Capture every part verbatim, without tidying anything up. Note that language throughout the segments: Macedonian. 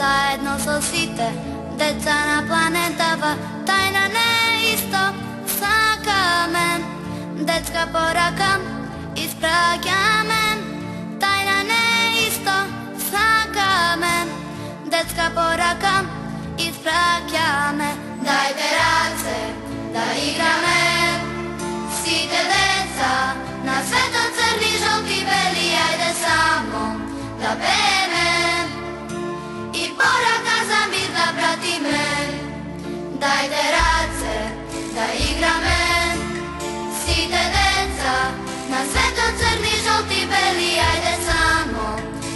заедно со сите деца на планетава, тајна не исто сакаме. Детска порака испраќаме, тајна не исто сакаме. Детска порака испраќаме. Дајте раце да играме, сите деца на светот црни, жолти, бели, ајде само да пееме и порака за мир да пратиме. Дајте раце да играме, сите деца на светот црни, жолти, бели, ајде само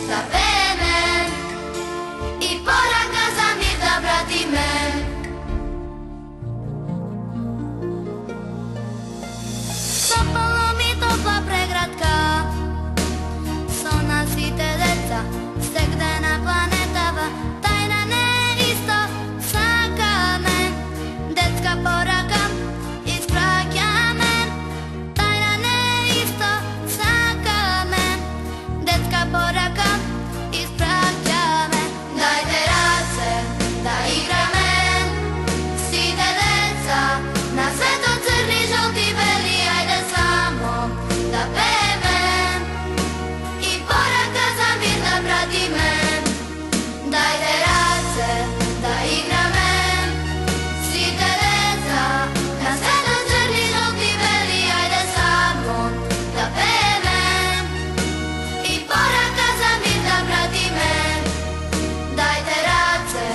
да пееме и порака за мир да пратиме. Топла ми топла преградка, со нас сите деца, сегде на планетава, тајна не исто сакаме. Детска порака испраќаме, тајна не исто сакаме. Детска порака испраќаме. Дајте раце да играме, сите деца на светот црни, жолти, бели, ајде само да пееме и порака за мир да пратиме. Дајте раце да играме, сите деца на светот црни, жолти, бели, ајде само да пееме и порака за мир да пратиме. Дајте раце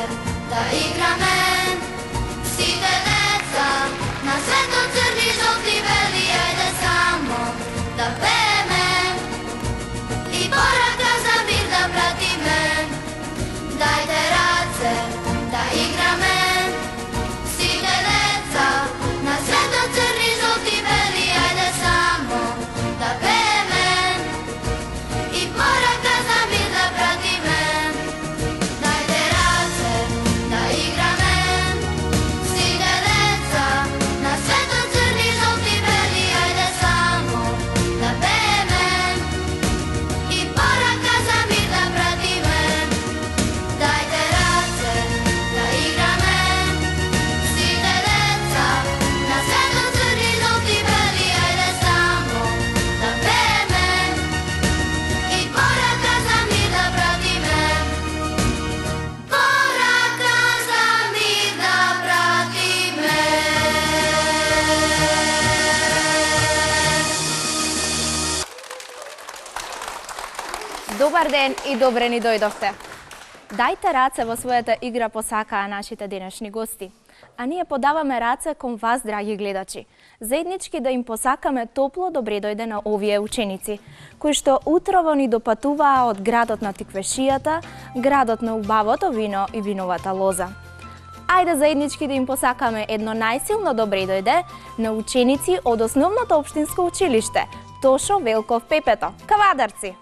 да играме, сите деца на светот црни, жолти, бели, ајде само да пееме и порака за мир да пратиме. Дајте раце да играме, сите деца на светот црни, жолти, бели, ајде само да пееме и порака за мир да пратиме. Дајте раце да играме, сите деца на светот црни, жолти, бели, ајде само да пееме и порака за мир да пратиме. Дајте раце да играме, сите деца на светот црни, жолти, бели, ајде само да пееме и порака за мир да пратиме. Порака за мир да пратиме. Добар ден и добре ни дојдовте. Дајте раце во својата игра посакаа нашите денешни гости. А ние подаваме раце кон вас, драги гледачи, заеднички да им посакаме топло добре дојде на овие ученици, кои што утрово ни допатуваа од градот на тиквешијата, градот на убавото вино и виновата лоза. Ајде заеднички да им посакаме едно најсилно добре дојде на ученици од основното општинско училиште Тошо Велков Пепето. Кавадарци!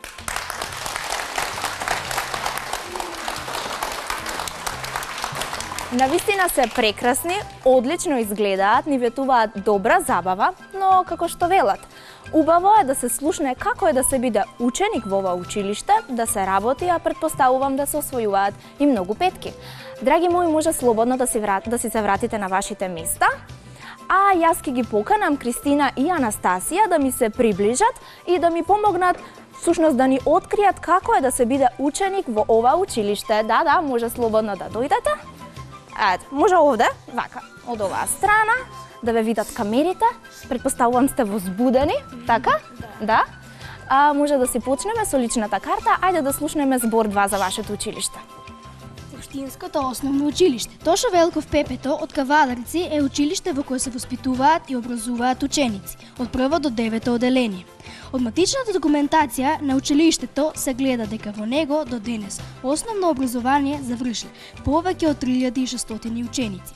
Навистина се прекрасни, одлично изгледаат, ни ветуваат добра забава, но како што велат, убаво е да се слушне како е да се биде ученик во ова училиште, да се работи, а предпоставувам да се освојуваат и многу петки. Драги мои, може слободно да си, врат, да си се вратите на вашите места, а јас ке ги поканам Кристина и Анастасија да ми се приближат и да ми помогнат всушност да ни откријат како е да се биде ученик во ова училиште. Да, да, може слободно да дојдете. Ето, може овде, вака, од оваа страна, да ве видат камерите. Предпоставувам сте возбудени, така? Да. А, може да си почнеме со личната карта, ајде да слушнеме збор два за вашето училиште. Општинското основно училиште Тошо Велков Пепето од Кавадарци е училиште во кое се воспитуваат и образуваат ученици од прво до девето оделение. Од матичната документација на училиштето се гледа дека во него до денес основно образование завршиле повеќе од три илјади и шестстотини ученици.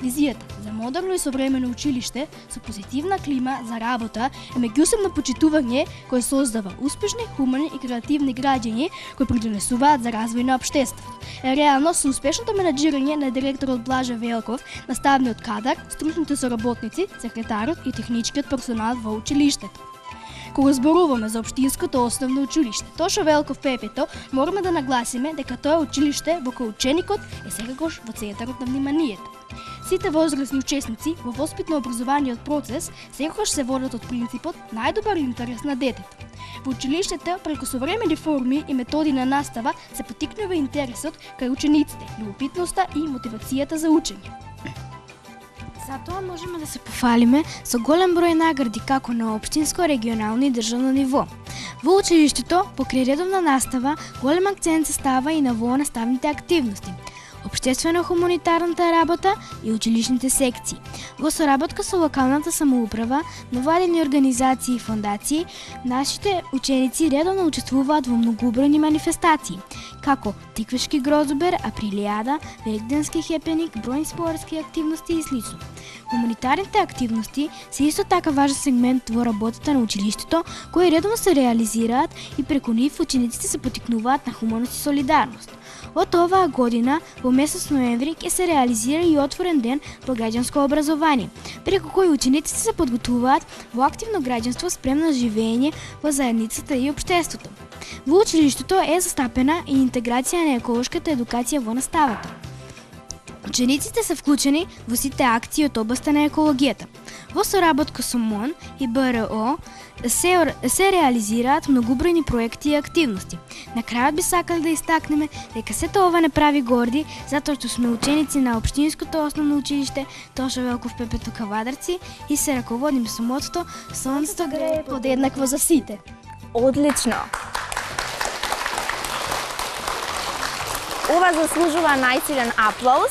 Визијата за модерно и современо училиште со позитивна клима за работа е меѓусебно почитување кое создава успешни, хумани и креативни граѓани кои придонесуваат за развој на општеството. Е реално со успешното менаџирање на директорот Блаже Велков, наставниот кадар, стручните соработници, секретарот и техничкиот персонал во училиштето. Кога зборуваме за општинското основно училиште Тошо Велков Пепето, мораме да нагласиме дека тоа училиште во кој ученикот е секогаш во центарот на вниманието. Сите возрастни учесници во воспитно-образовниот процес секогаш се водат од принципот најдобар интерес на детето. Во училиштето, преку современи форми и методи на настава, се поттикнува интересот кај учениците, љубопитноста и мотивацијата за учење. Затоа можеме да се пофалиме со голем број награди како на општинско, регионално и државно ниво. Во училиштето, покрај редовна настава, голем акцент се става и на вонаставните активности, општествено-хуманитарната работа и училишните секции. Во соработка со локалната самоуправа, невладини организации и фондации, нашите ученици редовно учествуваат во многобројни манифестации, како Тиквешки грозобер, Априлијада, Великденски хепеник, бројни спортски активности и слично. Хуманитарните активности се исто така важен сегмент во работата на училиштето, кои редовно се реализираат и преку нив учениците се поттикнуваат на хуманост и солидарност. Од оваа година, во месец ноември, ќе се реализира и отворен ден во граѓанско образование, преку кој учениците се подготвуваат во активно граѓанство спремно живење во заедницата и општеството. Во училиштето е застапена и интеграција на еколошката едукација во наставата. Учениците се вклучени во сите акции од областа на екологијата. Во соработка со МОН и БРО се, се реализираат многобројни проекти и активности. На крајот би сакали да истакнеме дека сето ова не прави горди, затоа што сме ученици на општинското основно училиште Тошо Велков Пепето Кавадарци и се раководиме со мотото Сонцето грее Подеднакво за сите. Одлично! Ова заслужува најсилен аплауз.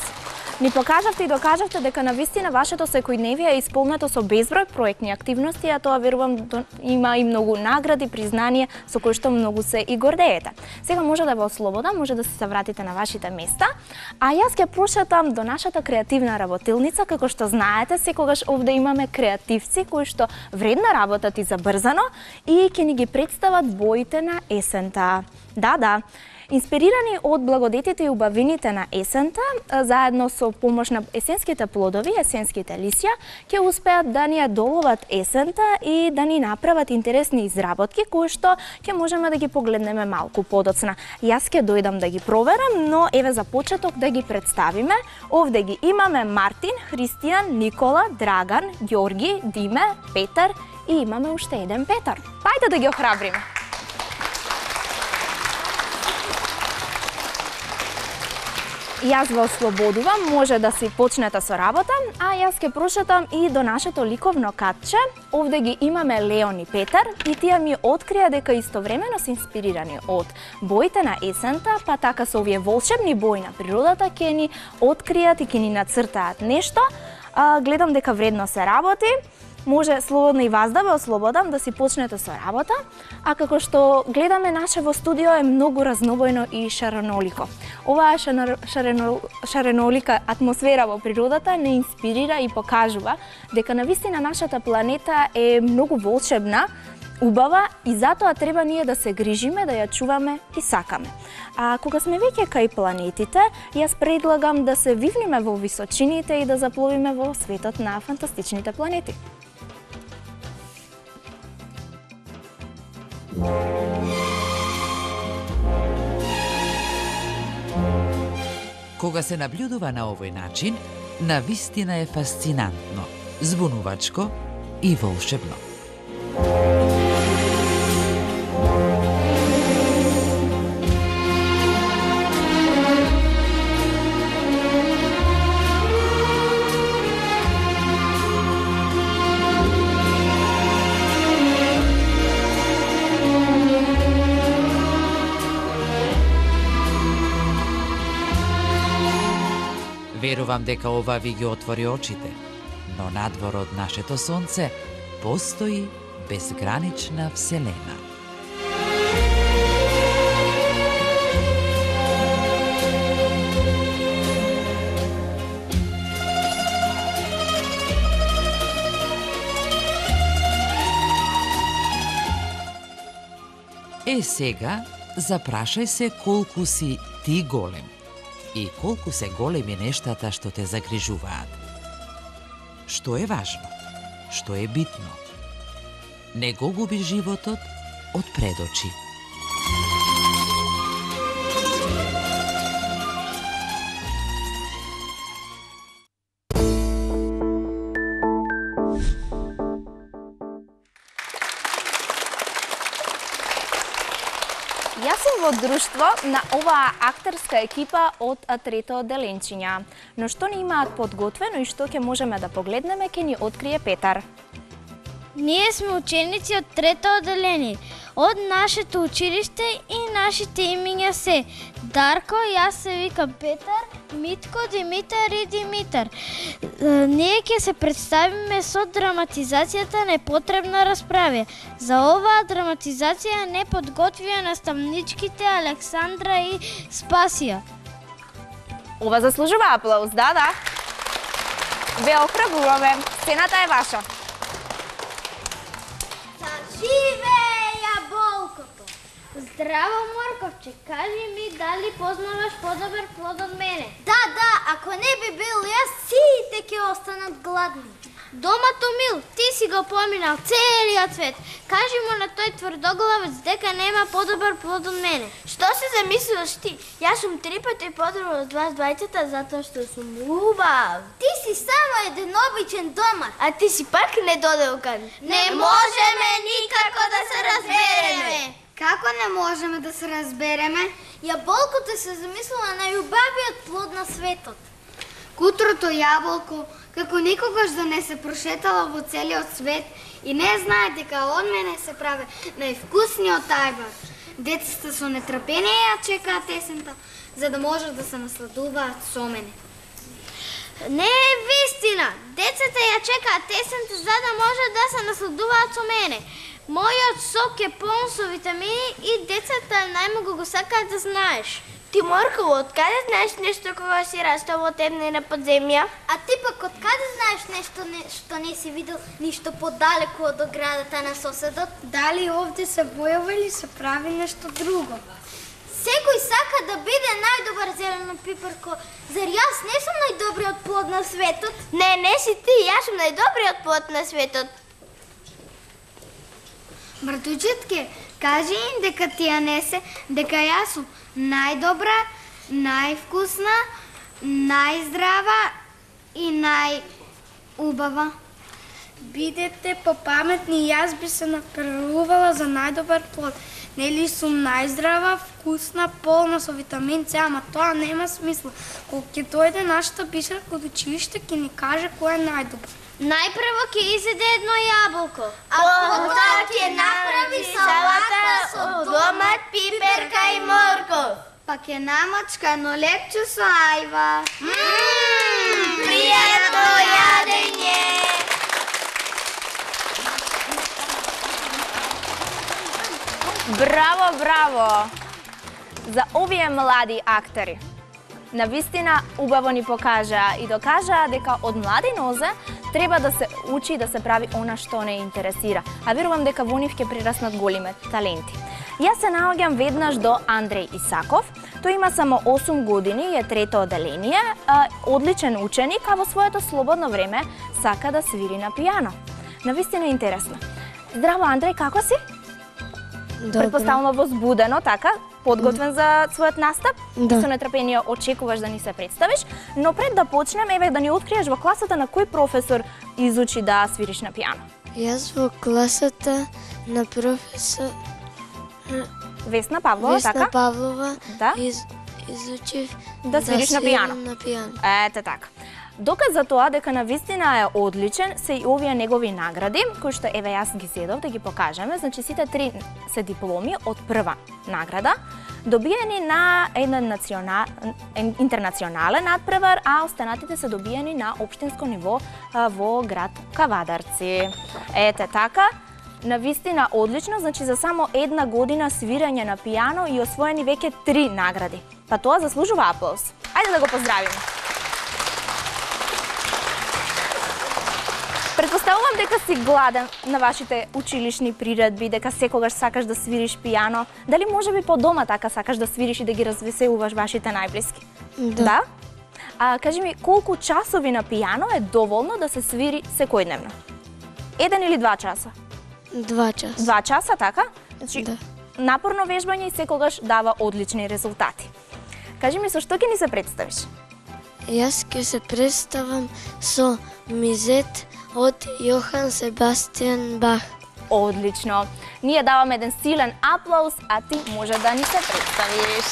Ни покажавте и докажавте дека навистина вашето секојдневие е исполнето со безброј проектни активности, а тоа верувам има и многу награди, признание со кои што многу се и гордеете. Сега може да ве ослободам, може да се вратите на вашите места, а јас ќе прошетам до нашата креативна работилница. Како што знаете, секогаш овде имаме креативци кои што вредно работат и забрзано и ќе ни ги представат боите на есента. Да, да. Инспирирани од благодетите и убавините на есента, заедно со помош на есенските плодови, есенските лисја, ќе успеат да ни ја доловат есента и да ни направат интересни изработки кои што ќе можеме да ги погледнеме малку подоцна. Јас ќе дојдам да ги проверам, но еве за почеток да ги представиме. Овде ги имаме Мартин, Христијан, Никола, Драган, Ѓорги, Диме, Петар и имаме уште еден Петар. Пајде да ги охрабриме. Јас ве ослободувам, може да си почнете со работа, а јас ќе прошетам и до нашето ликовно катче. Овде ги имаме Леон и Петар и тие ми открија дека истовремено се инспирирани од боите на есента, па така со овие волшебни бои на природата ќе ни откријат и ќе ни нацртаат нешто. А, гледам дека вредно се работи. Може слободно и вас да ве ослободам да си почнете со работа, а како што гледаме наше во студио е многу разнобојно и шаренолико. Оваа шаренолика атмосфера во природата не инспирира и покажува дека навистина нашата планета е многу волшебна, убава и затоа треба ние да се грижиме, да ја чуваме и сакаме. А кога сме веќе кај планетите, јас предлагам да се вивниме во височините и да запловиме во светот на фантастичните планети. Кога се наблюдува на овој начин, навистина е фасцинантно, збунувачко и волшебно. Верувам дека ова ви ги отвори очите, но надвор од нашето сонце постои безгранична вселена. Е сега, запрашај се колку си ти голем и колку се големи нештата што те загрижуваат. Што е важно? Што е битно? не го губи животот од пред очи. Јас сум во друштво на оваа актерска екипа од трето одделенчиња. Но што ни имаат подготвено и што ќе можеме да погледнеме, ќе ни открие Петар. Ние сме ученици од трето одделение, од нашето училиште и нашите имиња се Дарко, јас се викам Петар, Митко, Димитар и Димитар. Ние ќе се представиме со драматизацијата Непотребна расправа. За оваа драматизација не подготвија наставничките Александра и Спасија. Ова заслужува аплауз, да, да. Ве охрабруваме. Сцената е ваша. Живеја болкото! Здраво, Морковче, кажи ми дали познаваш подобар плод од мене? Да, да, ако не би бил јас, сите ќе останат гладни. Домато Мил, ти си го поминал целиот свет. Кажи му на тој тврдоглавец дека нема подобар плод од мене. Што се замислуваш ти? Јас сум три пати подобар од вас двајцата затоа што сум убав. Ти си само еден обичен домат. А ти си пак недоделкан. Не можеме никако да се разбереме. Како не можеме да се разбереме? Јаболкото се замислува најубавиот плод на светот. Кутрото јаболко, како никогаш да не се прошетала во целиот свет и не знае дека од мене се прави највкусниот ајвар. Децата со нетрпение ја чекаат есента, за да можат да се насладуваат со мене. Не е вистина! Децата ја чекаат есента за да можат да се насладуваат со мене. Мојот сок е полн со витамини и децата најмногу го сакаат да знаеш. Ти, Морково, откаде знаеш нешто кога си растал во темнина подземја? А ти пак откаде знаеш нешто не, што не си видел ништо подалеку од оградата на соседот? Дали овде се бојава или се прави нешто друго? Секој сака да биде најдобар зелено пиперко. Зар јас не сум најдобриот плод на светот? Не, не си ти, јас сум најдобриот плод на светот. Братучетке, кажи им дека ти ја не се, дека јас сум најдобра, највкусна, најздрава и најубава. Бидете попаметни, јас би се напрелувала за најдобар плод. Нели сум најздрава, вкусна, полна со витамин С, ама тоа нема смисла. Кога ќе дојде нашата бисерка од училиште, ќе ни каже кој е најдобар. Најпрво ќе изеде едно јаболко. А потоа ќе направи салата со домат, пиперка и морков. Па ќе намачка едно лепче со ајва. Ммм, пријатно јадење! Браво, браво! За овие млади актери. Навистина убаво ни покажаа и докажаа дека од млади нозе треба да се учи да се прави она што не интересира. А верувам дека во нив ќе прираснат големи таленти. Јас се наоѓам веднаш до Андреј Исаков. Тој има само осум години и е трето одделение, одличен ученик, а во своето слободно време сака да свири на пијано. Навистина интересно. Здраво, Андреј, како си? Добро. Предпоставувам возбудено, така, подготвен за својот настап. Да. Со нетрпение очекуваш да ни се представиш, но пред да почнем, еве да ни откриеш во класата на кој професор изучи да свириш на пијано. Јас во класата на професор Весна Павлова, Весна така? Павлова Да. из, изучив Да свириш на свирам пијано. на пијано. Ете така. Доказ за тоа дека навистина е одличен се и овие негови награди, кои што еве јас ги зедов да ги покажеме. Значи сите три се дипломи од прва награда, добиени на еден национал, интернационален надпревар, а останатите се добиени на општинско ниво а, во град Кавадарци. Ете така. Навистина одлично, значи за само една година свирање на пијано и освоени веќе три награди. Па тоа заслужува аплауз. Ајде да го поздравиме. Предпоставувам дека си гладен на вашите училишни приредби, дека секогаш сакаш да свириш пијано. Дали можеби по дома така сакаш да свириш и да ги развеселуваш вашите најблиски? Да. Да? А кажи ми, колку часови на пијано е доволно да се свири секојдневно? Еден или два часа? Два часа. Два часа, така? Значи, Да. напорно вежбање и секогаш дава одлични резултати. Кажи ми, со што ќе ни се представиш? Јас ќе се представам со Мизет од Јохан Себастијан Бах. Одлично. Ние даваме еден силен аплауз, а ти може да ни се представиш.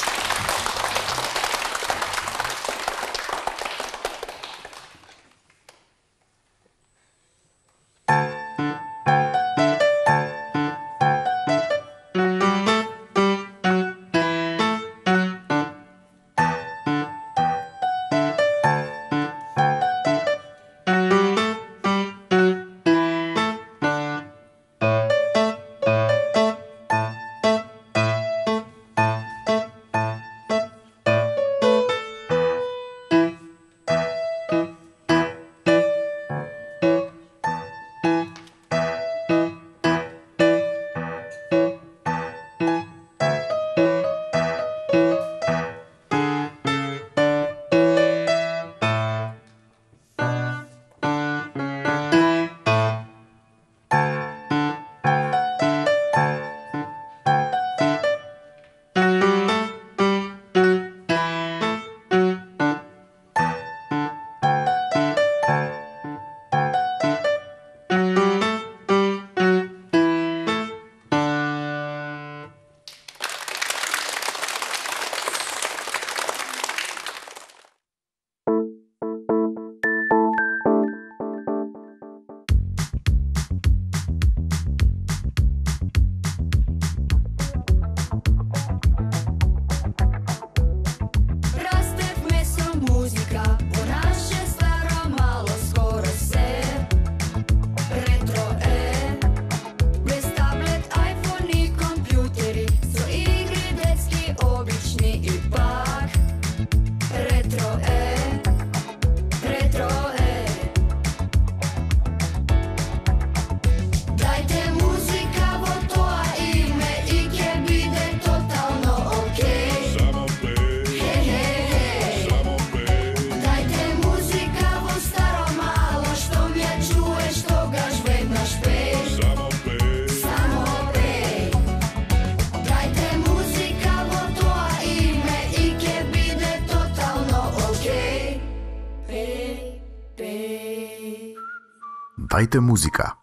Дајте музика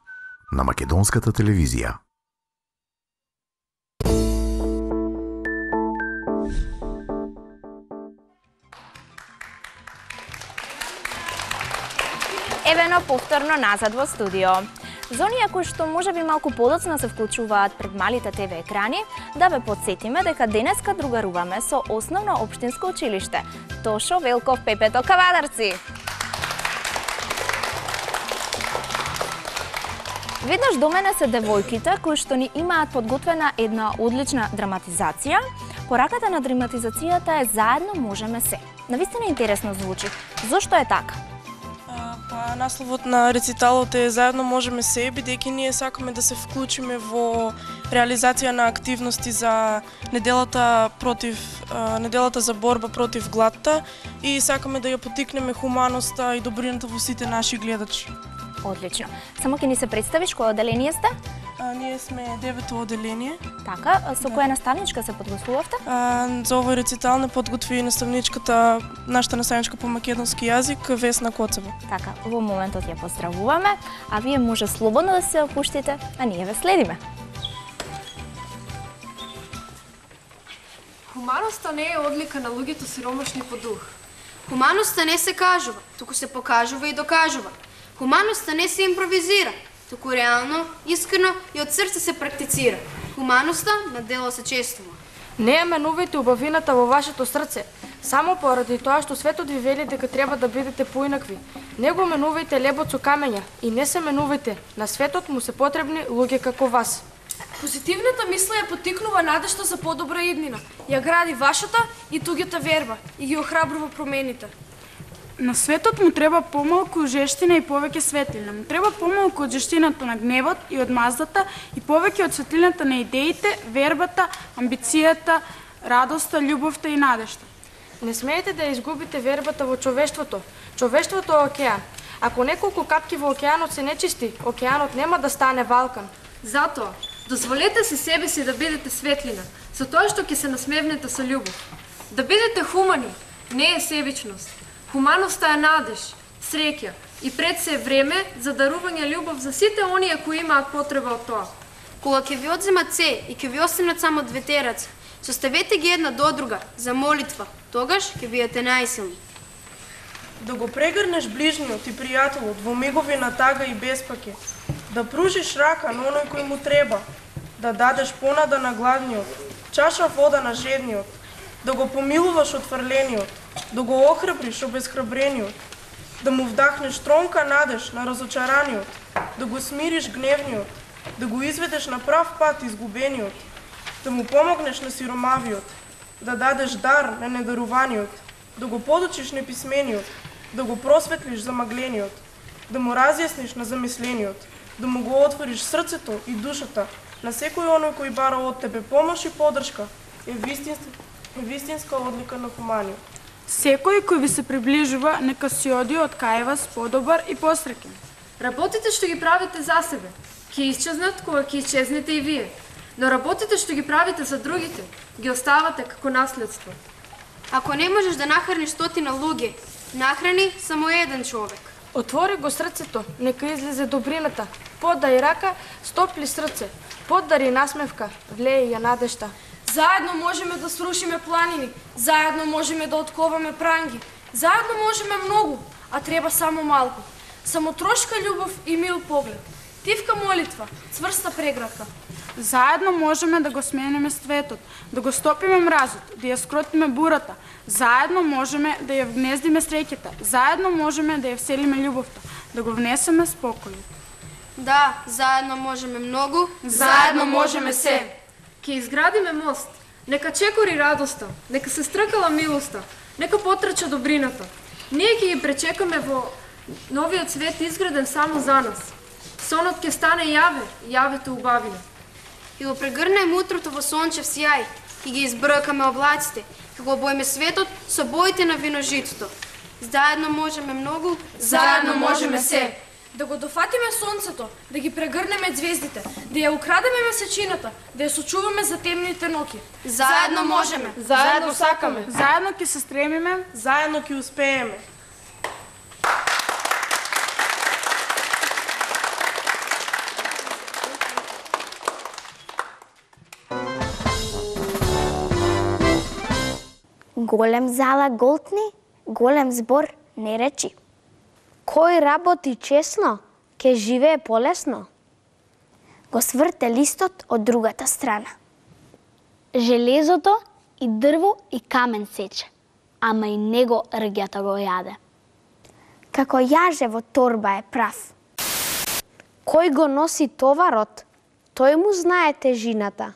на македонската телевизија. Евено повторно назад во студио. За оние кои што можеби малку подоцна се вклучуваат пред малите те ве екрани, да ве подсетиме дека денеска другаруваме со Основно општинско училиште Тошо Велков Пепето Кавадарци. Веднаш до мене се девојките кои што ни имаат подготвена една одлична драматизација. Пораката на драматизацијата е "Заедно можеме се". Навистина интересно звучи. Зошто е така? Па, насловот на рециталот е "Заедно можеме се", бидејќи ние сакаме да се вклучиме во реализација на активности за неделата против неделата за борба против гладта и сакаме да ја поттикнеме хуманоста и добрината во сите наши гледачи. Одлично. Само ќе ни се представиш кој оделение сте? А, ние сме девето оделение. Така, со која наставничка се подготвувавте? А, за овој рецитал не подготви наставничката, нашата наставничка по македонски јазик, Весна Коцева. Така, во моментот ја поздравуваме, а вие може слободно да се опуштите, а ние ве следиме. Хуманоста не е одлика на луѓето сиромашни по дух. Хуманоста не се кажува, туку се покажува и докажува. Хуманоста не се импровизира, туку реално, искрено и од срце се практицира. Хуманоста на дело се чествува. Не ја менувајте убавината во вашето срце, само поради тоа што светот ви вели дека треба да бидете поинакви. Не го менувајте лебот со камења и не се менувајте, на светот му се потребни луѓе како вас. Позитивната мисла ја поттикнува надежта за подобра иднина, ја гради вашата и туѓата верба и ги охрабрува промените. На светот му треба помалку жештина и повеќе светлина. Му треба помалку од жештината на гневот и од маздата и повеќе од светлината на идеите, вербата, амбицијата, радоста, љубовта и надежта. Не смеете да изгубите вербата во човештвото. Човештвото е океан. Ако неколку капки во океанот се нечисти, океанот нема да стане Балкан. Затоа, дозволете си себе си да бидете светлина, со тоа што ќе се насмевнете со љубов. Да бидете хумани, не е себичност. Хуманоста е надеж, среќа и пред се време за дарување љубов за сите оние кои имаат потреба од тоа. Кога ќе ви одземат се и ќе ви останат само двете раце, составете ги една до друга за молитва, тогаш ќе бидете најсилни. Да го прегрнеш ближниот и пријателот во мигови на тага и беспаке, да пружиш рака на оној кој му треба, да дадеш понада на гладниот, чаша вода на жедниот, да го помилуваш отфрлениот, да го охрабриш обезхрабрениот, да му вдахнеш тронка надеж на разочараниот, да го смириш гневниот, да го изведеш на прав пат изгубениот, да му помогнеш на сиромавиот, да дадеш дар на недаруваниот, да го подучиш неписмениот, да го просветлиш замаглениот, да му разјасниш на замислениот, да му го отвориш срцето и душата на секој оној кој бара од тебе помош и поддршка, е вистинска, е вистинска одлика на хуманиот. Секој кој ви се приближува, нека си оди од кај вас подобар и посреќен. Работите што ги правите за себе, ќе исчезнат кога ќе исчезнете и вие. Но работите што ги правите за другите, ги оставате како наследство. Ако не можеш да нахраниш стотина луѓе, нахрани само еден човек. Отвори го срцето, нека излезе добрината. Подај рака, стопли срце. Подари насмевка, влеј ја надежта. Заедно можеме да срушиме планини, заедно можеме да отковаме пранги, заедно можеме многу, а треба само малку. Само трошка љубов и мил поглед. Тивка молитва, цврста преградка. Заедно можеме да го смениме светот, да го стопиме мразот, да ја скротиме бурата. Заедно можеме да ја вгнездиме среќата. Заедно можеме да ја вселиме љубовта, да го внесеме спокојот. Да, заедно можеме многу, заедно можеме се. Ќе изградиме мост, нека чекори радоста, нека се стркала милоста, нека потрча добрината. Ние ќе ги пречекаме во новиот свет изграден само за нас. Сонот ќе стане јаве, јавето убавина. И го прегрнеме утрото во сончев сјај, и ги избркаме облаците, и го обоиме светот со боите на виножитото. Заедно можеме многу, заедно можеме се. Да го дофатиме сонцето, да ги прегрнеме звездите, да ја украдеме месечината, да ја сочуваме за темните ноќи. Заедно можеме, заедно сакаме, заедно ќе се стремиме, заедно ќе успееме. Голем зала голтни, голем збор не речи. Кој работи честно, ке живее полесно. Го сврте листот од другата страна. Железото и дрво и камен сече, ама и него рѓата го јаде. Како јаже во торба е прав. Кој го носи товарот, тој му знае тежината.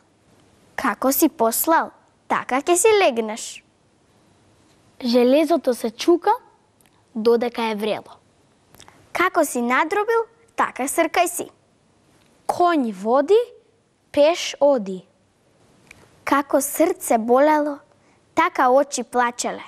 Како си послал, така ќе си легнеш. Железото се чука додека е врело. Како си надробил, така сркај си. Конј води, пеш оди. Како срце болело, така очи плачеле.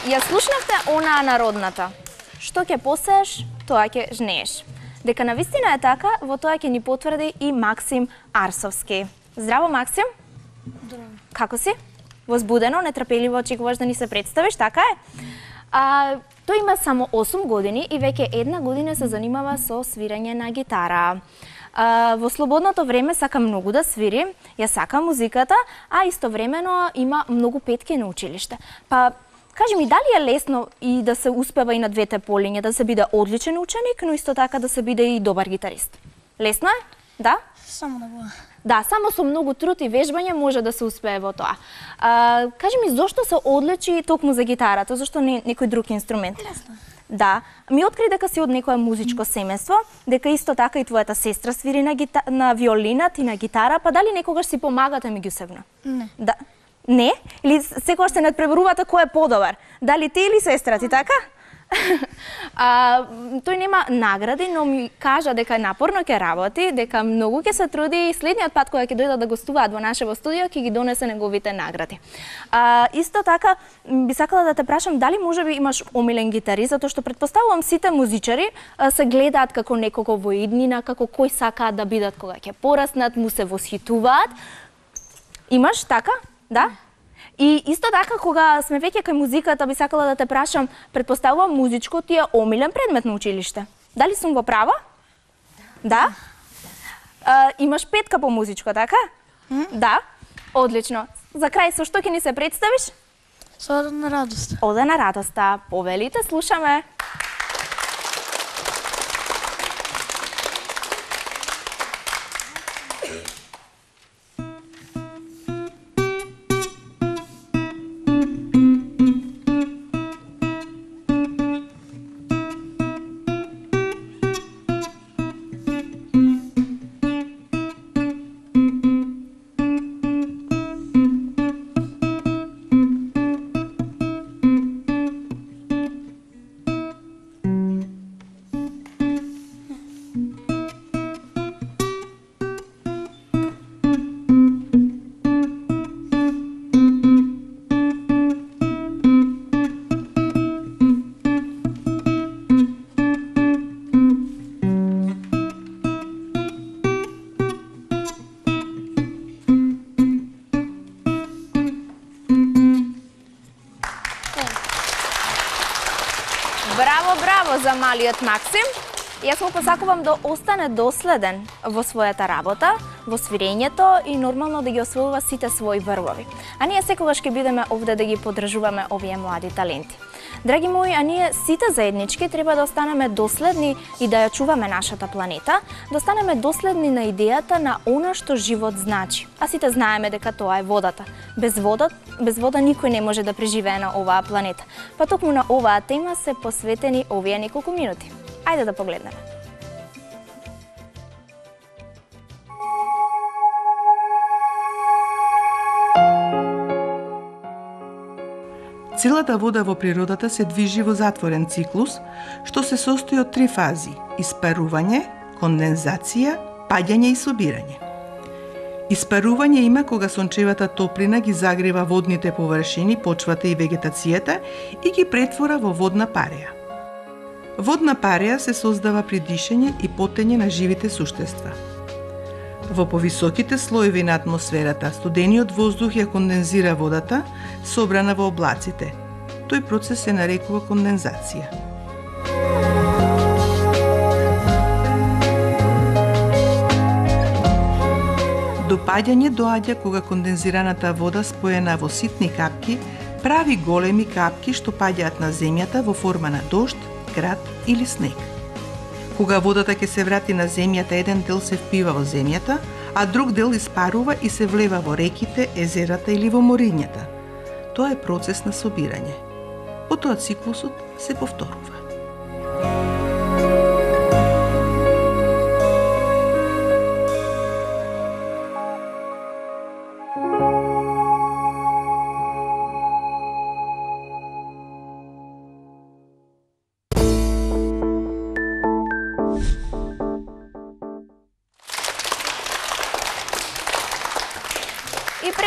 Ја слушнавте онаа народната. Што ќе посееш, тоа ќе жнееш. Дека навистина е така, во тоа ќе ни потврди и Максим Арсовски. Здраво, Максим. Здраво. Како си? Возбудено, нетрпеливо очекуваш да ни се представиш, така е? А, тој има само осум години и веќе една година се занимава со свирење на гитара. А, во слободното време сака многу да свири, ја сака музиката, а истовремено има многу петки на училиште. Па, кажи ми, дали е лесно и да се успева и на двете полиња, да се биде одличен ученик, но исто така да се биде и добар гитарист? Лесно е? Да? Само да го. Да, само со многу труд и вежбање може да се успее во тоа. А, кажи ми, зошто се одличи токму за гитарата? Зошто не некој друг инструмент? Лесно. Да. Ми откри дека си од некое музичко семејство, дека исто така и твојата сестра свири на, гита... на виолинат и на гитара, па дали некогаш си помагате меѓусебно? Не. Да. Не? Или секогаш се надпребарувате кој е подобар? Дали ти или сестра ти, така? А, тој нема награди, но ми кажа дека напорно ќе работи, дека многу ќе се труди и следниот пат кога ќе дојдат да гостуваат во нашево студио ќе ги донесе неговите награди. А, исто така би сакала да те прашам дали можеби имаш омилен гитарист, затоа што претпоставувам сите музичари а, се гледаат како некого во иднина, како кој сакаат да бидат кога ќе пораснат, му се восхитуваат. Имаш така? Да? И исто така, кога сме веќе кај музиката, би сакала да те прашам, претпоставувам музичко ти е омилен предмет на училиште. Дали сум во права? Да? А, имаш петка по музичко, така? Mm? Да? Одлично. За крај, со што ќе ни се представиш? Со Ода на радоста. Ода на радоста. Повелите, слушаме. Браво, браво за малиот Максим. Јас му посакувам да остане доследен во својата работа, во свирењето и нормално да ги освојува сите своји врвови. А ние секогаш ќе бидеме овде да ги поддржуваме овие млади таленти. Драги мои, а ние сите заеднички треба да останеме доследни и да ја чуваме нашата планета, да останеме доследни на идејата на она што живот значи. А сите знаеме дека тоа е водата. Без вода, без вода никој не може да преживее на оваа планета. Па токму на оваа тема се посветени овие неколку минути. Ајде да погледнеме. Целата вода во природата се движи во затворен циклус, што се состои од три фази – испарување, кондензација, паѓање и собирање. Испарување има кога сончевата топлина ги загрева водните површини, почвата и вегетацијата и ги претвора во водна пареја. Водна пареја се создава при дишење и потење на живите суштества. Во повисоките слоеви на атмосферата, студениот воздух ја кондензира водата, собрана во облаците. Тој процес се нарекува кондензација. До паѓање доаѓа кога кондензираната вода споена во ситни капки прави големи капки што паѓаат на земјата во форма на дожд, град или снег. Кога водата ќе се врати на земјата, еден дел се впива во земјата, а друг дел испарува и се влева во реките, езерата или во морињата. Тоа е процес на собирање. Потоа циклусот се повторува.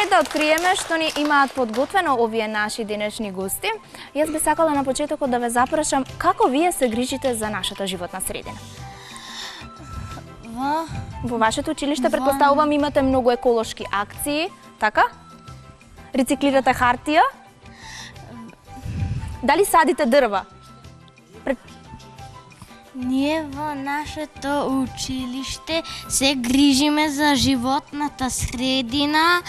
Да откриеме што ни имаат подготвено овие наши денешни гости, јас би сакала на почетокот да ве запрашам како вие се грижите за нашата животна средина. Во, Во вашето училиште претпоставувам имате многу еколошки акции, така? Рециклирате хартија? Дали садите дрва? Пред... Ние во нашето училиште се грижиме за животната средина,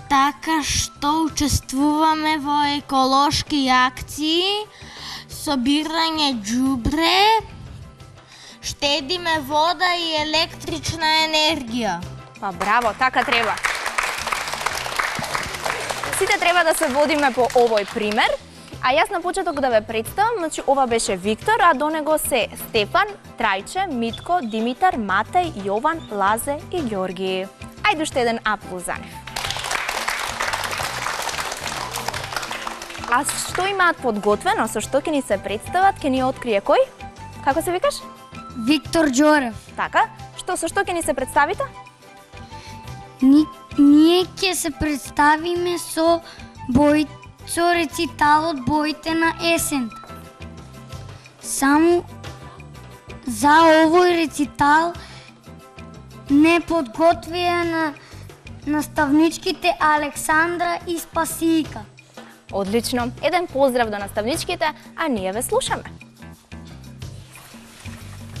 така што учествуваме во еколошки акции, собирање џубре, штедиме вода и електрична енергија. Па браво, така треба. Сите треба да се водиме по овој пример. А јас на почеток да ве представам, значи ова беше Виктор, а до него се Стефан, Трајче, Митко, Димитар, Матеј, Јован, Лазе и Ѓорги. Ајде уште еден аплауз за нив. А што имаат подготвено, со што ќе ни се представат, ќе ни открие кој? Како се викаш? Виктор Џорев. Така, што со што ќе ни се представите? Ни, ние ќе се представиме со бој, со рециталот Боите на есента. Само за овој рецитал не подготвија на наставничките Александра и Спасийка. Одлично. Еден поздрав до наставничките, а ние ве слушаме.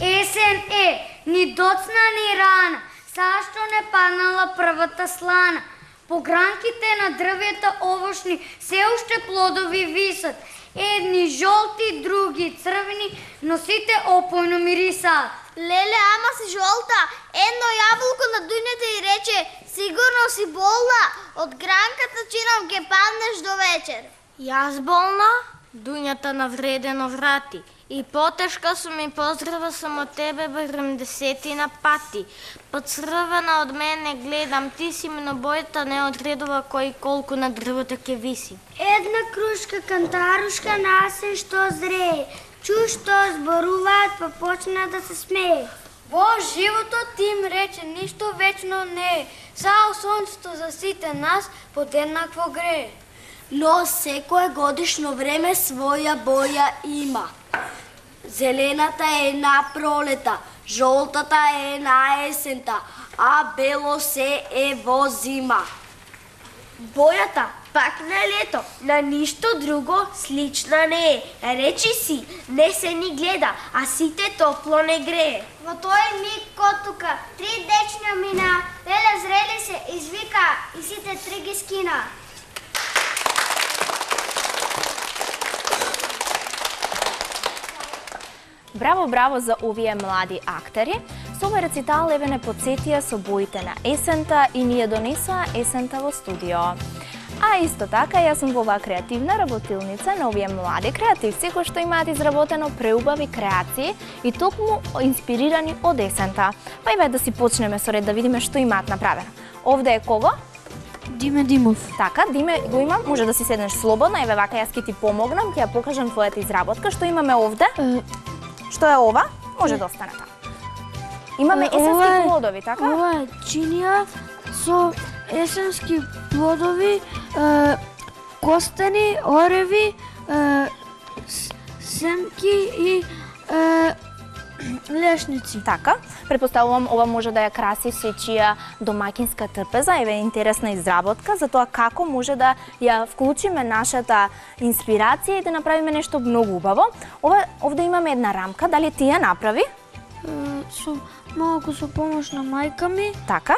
Есен е, ни доцна ни рана, сашто не паднала првата слана. По гранките на дрвета овошни се уште плодови висат. Едни жолти, други црвени, но сите опојно мирисаат. Леле, ама си жолта. Едно јаболко на дуњата и рече: сигурно си болна, од гранката чинам ке паднеш до вечер. Јас болна? Дуњата навредено врати. И потешка сум и поздрава сам од тебе барем десетина пати. Поцрвена од мене гледам, ти си мнобојата не одредува кој колку на дрвото ке виси. Една крушка кантарушка насен што зрее, чу што зборуваат, па почна да се смее. Во животот ти им рече, ништо вечно не е, само сонцето за сите нас подеднакво грее. Но секое годишно време своја боја има. Зелената е на пролета, жолтата е на есента, а бело се е во зима. Бојата пак на лето, на ништо друго слична не е. Речи си, не се ни гледа, а сите топло не грее. Во тој миг котука, три дечња мина, леле зрели се, извика и сите три ги скина. Браво, браво за овие млади актери. Со овој рецитал еве не подсетија со боите на есента и ние донесоа есента во студио. А исто така, јас сум во оваа креативна работилница на овие млади креативци кои што имаат изработено преубави креации и токму инспирирани од есента. Па еве да си почнеме со ред да видиме што имаат направено. Овде е кого? Диме Димов. Така, Диме го имам, може да си седнеш слободно, еве вака јас ќе ти помогнам, ќе ја покажам твојата изработка. Што имаме овде? Што е ова? Може да остане така. Имаме есенски плодови, така? Ова е чинија со есенски плодови, е, костени, ореви, е, семки и е, лешници. Така, претпоставувам ова може да ја краси сечија домаќинска трпеза, еве интересна изработка за тоа како може да ја вклучиме нашата инспирација и да направиме нешто многу убаво. Ова овде имаме една рамка, дали ти ја направи? Е, со малку со помош на мајка ми. Така.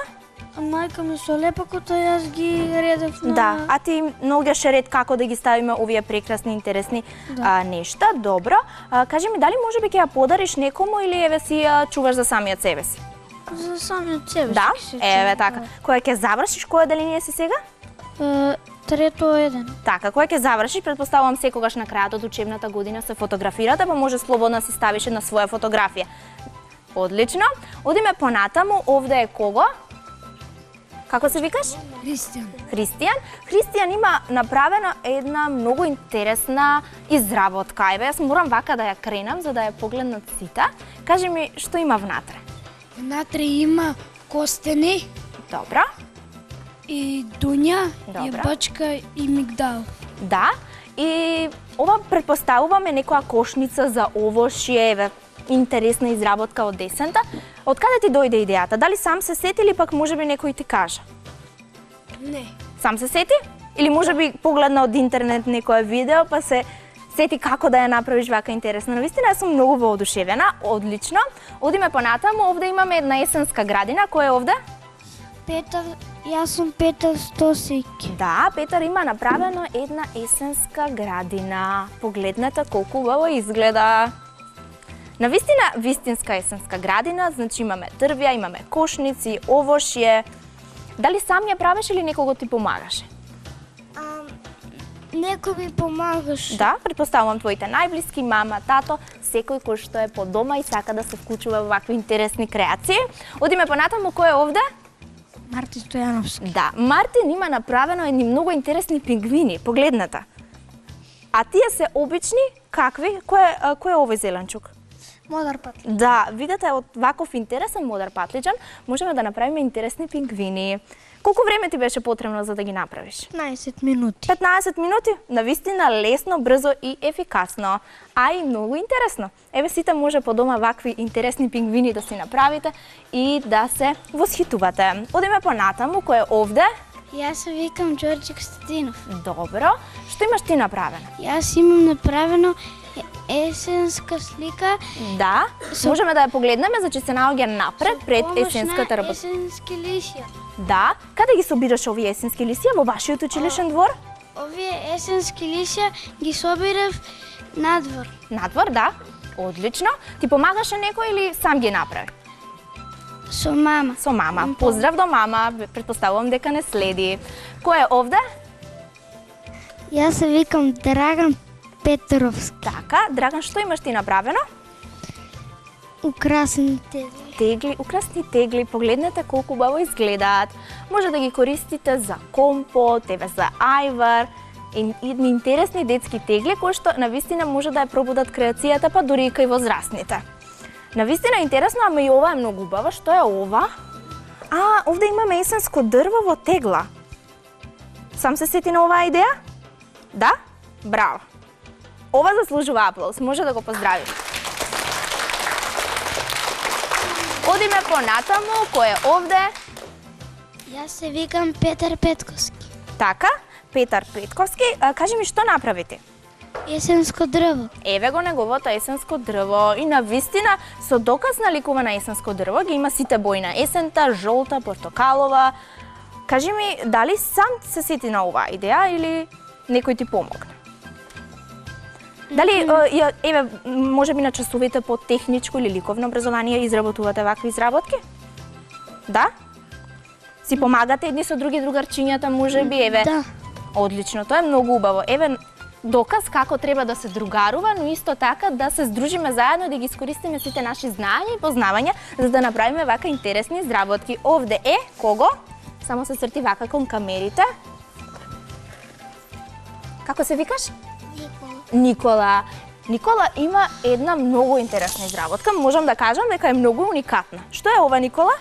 А мајка ми со лепакото јас ги редев на... Да, а ти наоѓаш ред како да ги ставиме овие прекрасни, интересни Да. а, нешта. Добро. А, кажи ми, дали може би ќе ја подариш некому или еве си ја чуваш за самиот себе си? За самиот себе Да, си. еве така. Која ќе завршиш, која деление си сега? Е, трето еден. Така, која ќе завршиш, претпоставувам секогаш на крајот од учебната година се фотографирате, па може слободно да си ставиш една своја фотографија. Одлично. Одиме понатаму, овде е кого? Како се викаш? Христијан. Христијан. Христијан има направена една многу интересна изработка. Еве, јас морам вака да ја кренам за да ја погледнат сите. Кажи ми, што има внатре? Внатре има костени. Добро. И дуња, Добро. и бачка, и мигдал. Да. И ова претпоставуваме некоја кошница за овошје, еве, интересна изработка од есента. Од каде ти дојде идејата? Дали сам се сети или пак можеби некој ти кажа? Не. Сам се сети? Или можеби погледна од интернет некое видео па се сети како да ја направиш вака интересна. Навистина јас сум многу воодушевена, одлично. Одиме понатаму, овде имаме една есенска градина. Кој е овде? Петар, јас сум Петар Стосик. Да, Петар има направено една есенска градина. Погледнете колку убаво изгледа. Навистина вистинска есенска градина, значи имаме дрвја, имаме кошници, овошје. Дали сам ја правиш или некого ти помагаше? Некој ми помагаш. Да, претпоставувам твоите најблиски, мама, тато, секој кој што е по дома и сака да се вклучува во вакви интересни креации. Одиме понатаму, кој е овде? Мартин Стојановски. Да, Мартин има направено едни многу интересни пингвини, погледнете. А тие се обични, какви? Кој, кој е овој зеленчук? Модар патлиџан. Да, видете, од ваков интересен модар патлиџан можеме да направиме интересни пингвини. Колку време ти беше потребно за да ги направиш? петнаесет минути. петнаесет минути? Навистина лесно, брзо и ефикасно. А и многу интересно. Еве сите може по дома вакви интересни пингвини да си направите и да се восхитувате. Одиме понатаму, кој е овде? Јас се викам Ѓорѓе Костадинов. Добро. Што имаш ти направено? Јас имам направено есенска слика. Да, со... можеме да ја погледнеме, значи се наоѓа напред пред есенската работа. Есенски лисија. Да, каде ги собираш овие есенски лисија во вашиот училишен двор? Овие есенски лисија ги собирав надвор. Надвор, да. Одлично. Ти помагаше некој или сам ги направи? Со мама. Со мама. Поздрав до мама. Претпоставувам дека не следи. Кој е овде? Јас се викам Драган Петровски. Така, Драган, што имаш ти направено? Украсни тегли. Тегли, украсни тегли. Погледнете колку убаво изгледаат. Може да ги користите за компот, еве за ајвар. И интересни детски тегли кои што навистина може да ја пробудат креацијата, па дури и кај возрастните. Навистина интересно, ама и ова е многу убава. Што е ова? А, овде имаме есенско дрво во тегла. Сам се сети на оваа идеја? Да? Браво. Ова заслужува аплауз. Може да го поздравиш. Одиме понатаму. Кој е овде? Јас се викам Петар Петковски. Така, Петар Петковски. А, кажи ми што направите? Есенско дрво. Еве го неговото есенско дрво. И навистина, со доказ на ликува на есенско дрво, ги има сите бои на есента, жолта, портокалова. Кажи ми, дали сам се сети на оваа идеја или некој ти помогна? Дали, mm-hmm. еве, може би на часовите по техничко или ликовно образование изработувате вакви изработки? Да? Си помагате едни со други другарчињата, може би, еве? Да. Одлично, тоа е многу убаво. Еве, доказ како треба да се другарува, но исто така да се здружиме заедно, да ги искористиме сите наши знаења и познавања, за да направиме вака интересни изработки. Овде е, кого? Само се црти вака кон камерите. Како се викаш? Никола. Никола. Никола има една многу интересна изработка. Можам да кажам дека е многу уникатна. Што е ова, Никола?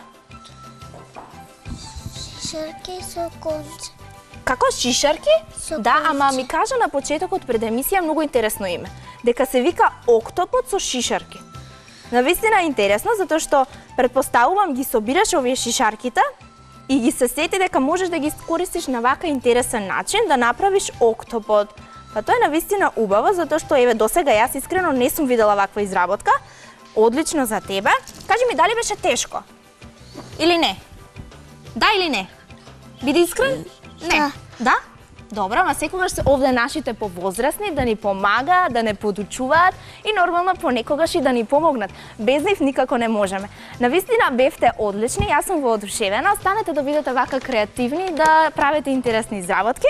Шишарки со конце. Како шишарки? Со да, конце. ама ми кажа на почетокот пред емисија многу интересно име. Дека се вика октопод со шишарки. Навистина е интересно, затоа што претпоставувам ги собираш овие шишарките и ги се сети дека можеш да ги користиш на вака интересен начин да направиш октопод. Па тоа е навистина убаво, затоа што еве досега јас искрено не сум видела ваква изработка. Одлично за тебе. Кажи ми, дали беше тешко? Или не? Да или не? Биди искрен? Не. Да. Да? Добро, ма секогаш се овде нашите повозрасни да ни помагаат, да не подучуваат и нормално понекогаш и да ни помогнат. Без нив никако не можеме. Навистина бевте одлични, јас сум воодушевена. Останете да бидете вака креативни, да правите интересни изработки.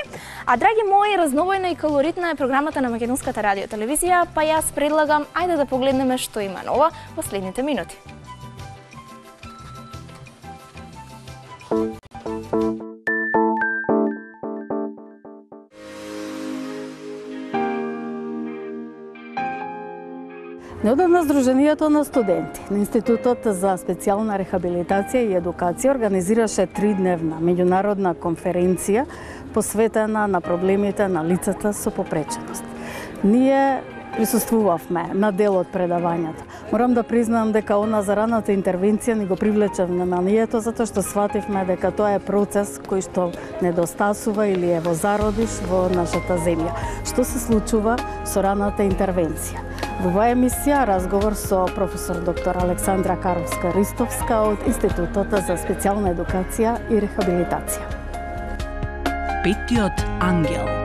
А драги мои, разновојна и калоритна е програмата на Македонската радио телевизија, па јас предлагам ајде да погледнеме што има ново во следните минути. Неодамна Сдруженијето на студенти на Институтот за специјална рехабилитација и едукација организираше тридневна меѓународна конференција посветена на проблемите на лицата со попреченост. Ние присуствувавме на дел од предавањата. Морам да признам дека она за раната интервенција ни го привлече вниманието, затоа што свативме дека тоа е процес кој што недостасува или е во зародиш во нашата земја. Што се случува со раната интервенција? Во оваа емисија разговор со професор доктор Александра Каровска-Ристовска од Институтот за специјална едукација и рехабилитација. Петиот ангел.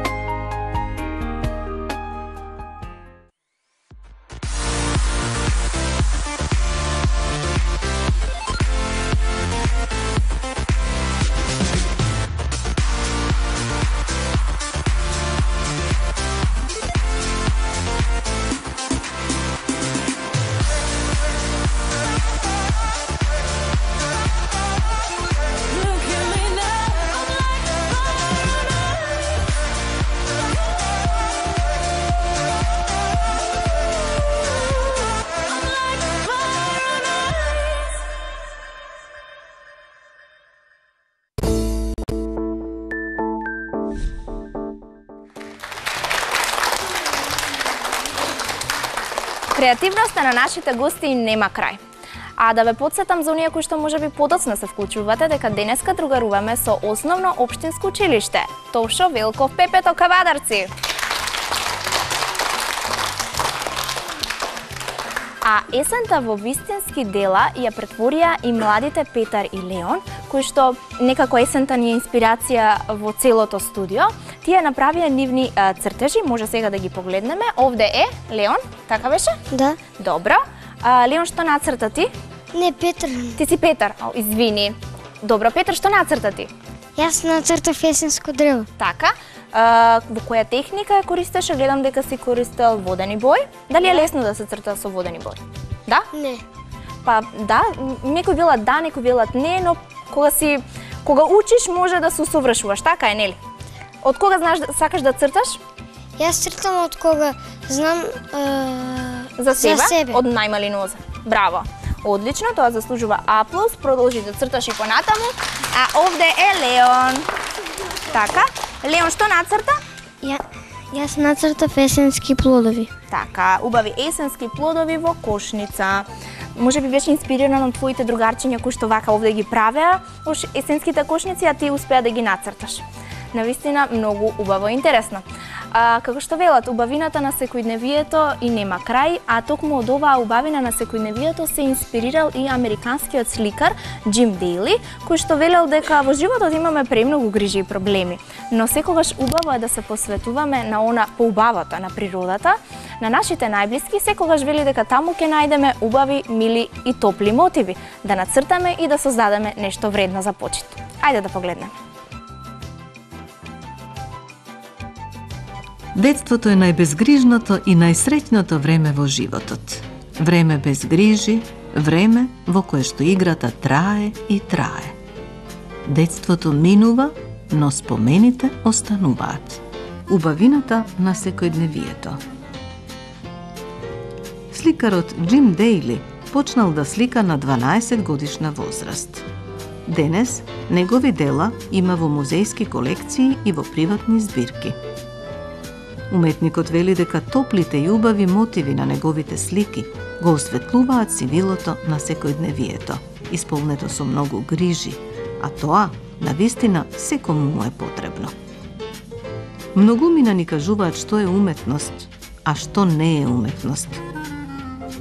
Креативноста на нашите гости нема крај. А да ве подсетам за оние кои што можеби подоцна се вклучувате, дека денеска другаруваме со Основно општинско училиште Тошо Велков Пепето Кавадарци. А есента во вистински дела ја претворија и младите Петар и Леон, кои што некако есента ни е инспирација во целото студио. Тие направија нивни а, цртежи, може сега да ги погледнеме. Овде е Леон, така беше? Да. Добро. А, Леон, што нацрта ти? Не, Петар. Ти си Петар, О, извини. Добро, Петар, што нацрта ти? Јас нацртав есенско древо. Така. А, во која техника ја користеше? Гледам дека си користел водени бој. Дали е лесно да се црта со водени бој? Да? Не. Па да, некои велат да, некои велат не, но кога си кога учиш може да се усовршуваш, така е, нели? Од кога знаеш сакаш да црташ? Јас цртам од кога знам е... за себе, за себе. Од најмали ноза. Браво. Одлично, тоа заслужува аплауз. Продолжи да црташ и понатаму. А овде е Леон. Така. Леон, што нацрта? Ја, јас нацртав есенски плодови. Така, убави есенски плодови во кошница. Може би беше инспирирано од твоите другарчиња кои што вака овде ги правеа во есенските кошници, а ти успеа да ги нацрташ. Навистина многу убаво и интересно. А, како што велат, убавината на секојдневието и нема крај, а токму од оваа убавина на секојдневието се инспирирал и американскиот сликар Џим Дејли, кој што велел дека во животот имаме премногу грижи и проблеми, но секогаш убаво е да се посветуваме на она поубавото, на природата, на нашите најблиски, секогаш вели дека таму ќе најдеме убави, мили и топли мотиви, да нацртаме и да создадеме нешто вредно за почит. Ајде да погледнеме. Детството е најбезгрижното и најсреќното време во животот. Време без грижи, време во кое што играта трае и трае. Детството минува, но спомените остануваат. Убавината на секојдневието. Сликарот Џим Дејли почнал да слика на дванаесет годишна возраст. Денес негови дела има во музејски колекции и во приватни збирки. Уметникот вели дека топлите и убави мотиви на неговите слики го осветлуваат сивилото на секојдневието, исполнето со многу грижи, а тоа, навистина, секому му е потребно. Многумина ни кажуваат што е уметност, а што не е уметност.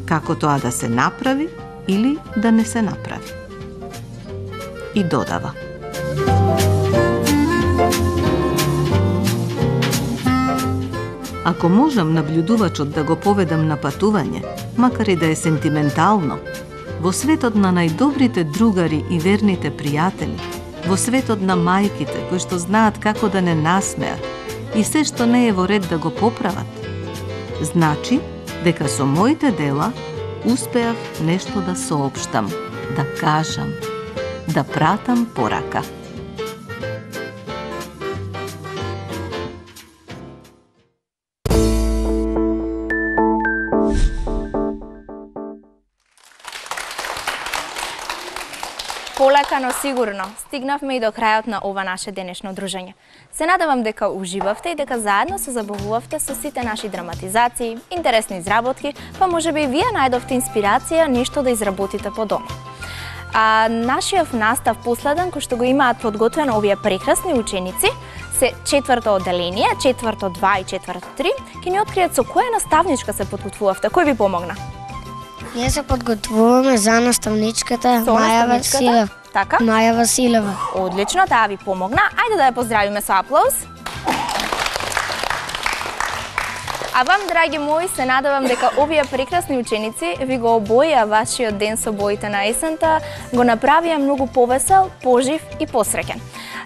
Како тоа да се направи или да не се направи. И додава. Ако можам наблюдувачот да го поведам на патување, макар и да е сентиментално, во светот на најдобрите другари и верните пријатели, во светот на мајките кои што знаат како да не насмеат и се што не е во ред да го поправат, значи дека со моите дела успеав нешто да соопштам, да кажам, да пратам порака. Полека, но сигурно, стигнавме и до крајот на ова наше денешно дружење. Се надевам дека уживавте и дека заедно се забавувавте со сите наши драматизации, интересни изработки, па можеби и вие најдовте инспирација нешто да изработите по дома. А нашиот настав последен, кој што го имаат подготвено овие прекрасни ученици, се четврто одделение, четврто два и четврто три, ќе ни откријат со која наставничка се подготвувавте. Кој ви помогна? Ние се подготвуваме за наставничката Маја Василева. Така? Маја Василева. Одлично, таа ви помогна. Ајде да ја поздравиме со аплауз. А вам, драги мои, се надевам дека овие прекрасни ученици ви го обоја вашиот ден со боите на есента, го направија многу повесел, пожив и посреќен.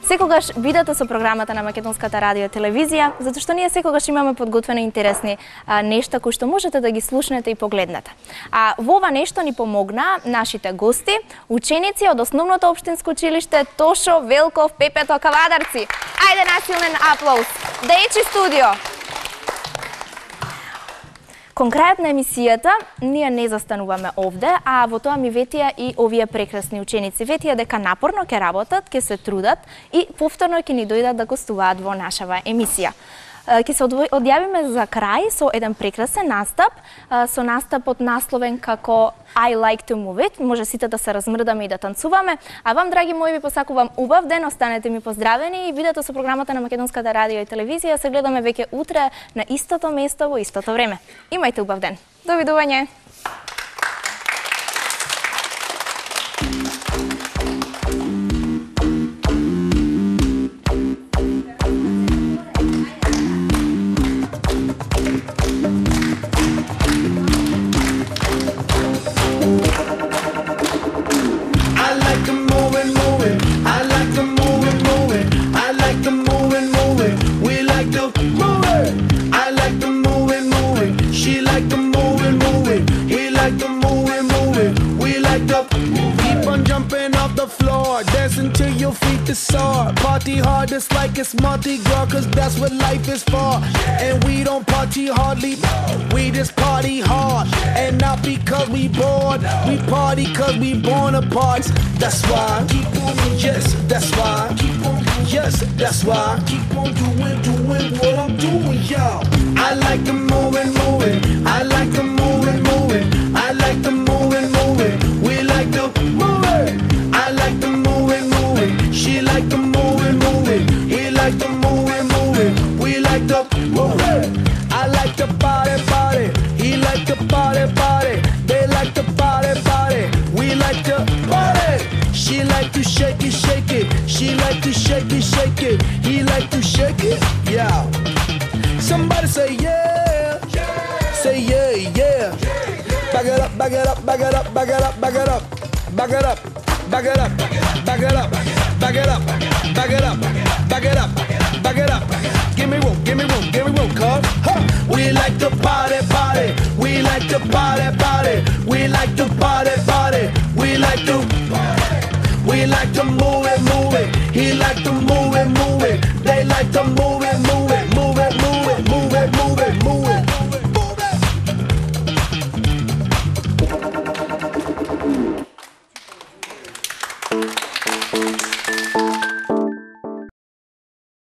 Секогаш бидете со програмата на Македонската радио и телевизија, затоа што ние секогаш имаме подготвени интересни а, нешта кои што можете да ги слушнете и погледнете. А во ова нешто ни помогна нашите гости, ученици од Основното општинско училиште Тошо Велков Пепето Кавадарци. Ајде насилен аплауз. Дејчи студио. Кон крајот на емисијата, ние не застануваме овде, а во тоа ми ветија и овие прекрасни ученици. Ветија дека напорно ќе работат, ќе се трудат и повторно ќе ни дојдат да гостуваат во нашава емисија. Ќе се одјавиме за крај со еден прекрасен настап, со настапот насловен како I like to move it. Може сите да се размрдаме и да танцуваме. А вам, драги мои, ви посакувам убав ден, останете ми поздравени и видеото со програмата на Македонската радио и телевизија се гледаме веќе утре на истото место во истото време. Имајте убав ден. Довидување. Until your feet is sore. Party hard just like it's Mardi Gras, cause that's what life is for. And we don't party hardly, we just party hard. And not because we bored, we party cause we born apart. That's why, keep on, yes, that's why, keep on, yes, that's why, keep on doing, doing what I'm doing, y'all. I like the moving, moving, I like the moving, moving, I like the moving, moving, we like the moving, I like the moving, moving, she like the moving, moving, he like the moving, moving, we like the moving. I like the body, body, he like the body, body, they like the body, body, we like the body. She like to shake it, shake it, she like to shake it, shake it, he like to shake it, yeah. Somebody say yeah, say yeah, yeah. Back it up, back it up, back it up, back it up, back it up, back it up. Back it up, back it up, back it up, back it up, back it up, back it up. Give me room, give me room, give me room, cuz. Huh. We like to party, party. We like to party, party. We like to party, party. We like to, we like to move it, move it. He like to move